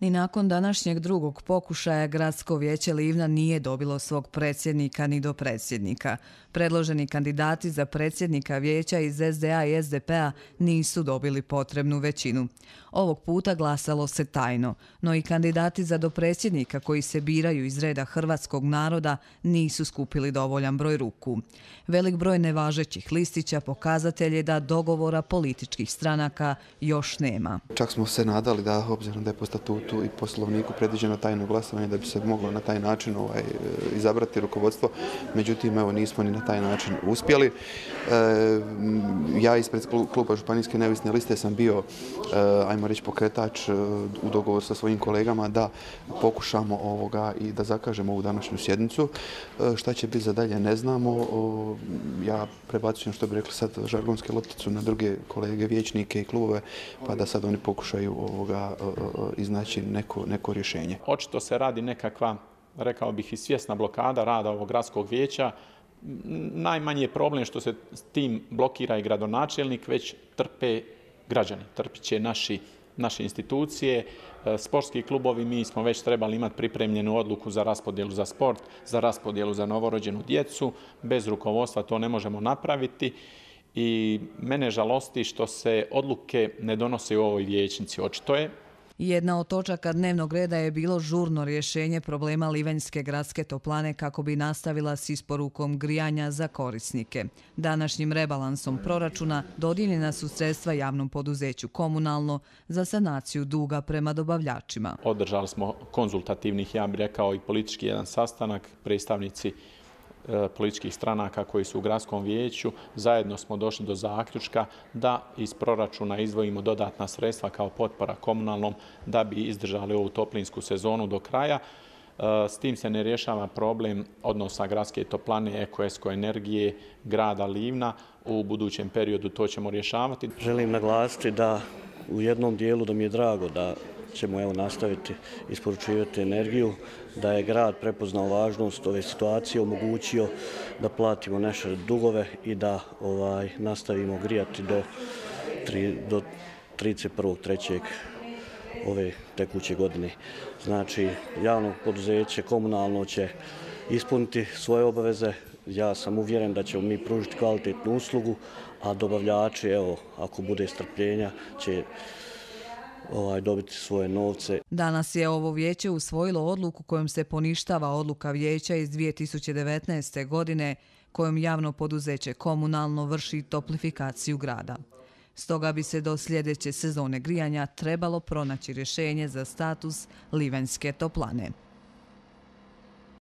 Ni nakon današnjeg drugog pokušaja Gradsko vijeće Livna nije dobilo svog predsjednika ni dopredsjednika. Predloženi kandidati za predsjednika vijeća iz SDA i SDP-a nisu dobili potrebnu većinu. Ovog puta glasalo se tajno, no i kandidati za dopredsjednika koji se biraju iz reda hrvatskog naroda nisu skupili dovoljan broj ruku. Velik broj nevažećih listića pokazatelj je da dogovora političkih stranaka još nema. Čak smo se nadali da, obzirom da je po statutu i poslovniku predviđeno tajno glasovanje, da bi se moglo na taj način izabrati rukovodstvo. Međutim, evo, nismo ni na taj način uspjeli. Ja ispred kluba Županijske neovisne liste sam bio, ajmo reći, pokretač u dogovoru sa svojim kolegama da pokušamo i da zakažemo ovu današnju sjednicu. Šta će biti za dalje ne znamo. Ja prebacujem, što bi rekli sad, žargonske lopticu na druge kolege, vijećnike i klubove, pa da sad oni pokušaju iznaći neko rješenje. Očito se radi nekakva, rekao bih, i svjesna blokada rada ovog gradskog vijeća. Najmanji je problem što se s tim blokira i gradonačelnik, već trpe građani, trpit će naše institucije, sportski klubovi. Mi smo već trebali imati pripremljenu odluku za raspodjelu za sport, za raspodjelu za novorođenu djecu. Bez rukovodstva to ne možemo napraviti. I mene žalosti što se odluke ne donose u ovoj vijećnici. Očito je. Jedna od točaka dnevnog reda je bilo žurno rješenje problema Livanjske gradske toplane kako bi nastavila s isporukom grijanja za korisnike. Današnjim rebalansom proračuna dodijeljena su sredstva javnom poduzeću Komunalno za sanaciju duga prema dobavljačima. Održali smo konzultativnih, ja bih rekao, i politički jedan sastanak, predstavnici političkih stranaka koji su u gradskom vijeću. Zajedno smo došli do zaključka da iz proračuna izdvojimo dodatna sredstva kao potpora Komunalnom da bi izdržali ovu toplinsku sezonu do kraja. S tim se ne rješava problem odnosa gradske toplane, Eko energije, grada Livna. U budućem periodu to ćemo rješavati. Želim naglasiti da u jednom dijelu da mi je drago da ćemo nastaviti isporučivati energiju, da je grad prepoznao važnost ove situacije, omogućio da platimo naše dugove i da nastavimo grijati do 31.3. ove tekuće godine. Znači, javno poduzeće Komunalno će ispuniti svoje obaveze. Ja sam uvjeren da ćemo mi pružiti kvalitetnu uslugu, a dobavljači, ako bude strpljenja, će dobiti svoje novce. Danas je ovo vijeće usvojilo odluku kojom se poništava odluka vijeća iz 2019. godine kojom javno poduzeće Komunalno vrši toplifikaciju grada. Stoga bi se do sljedeće sezone grijanja trebalo pronaći rješenje za status Livanjske toplane.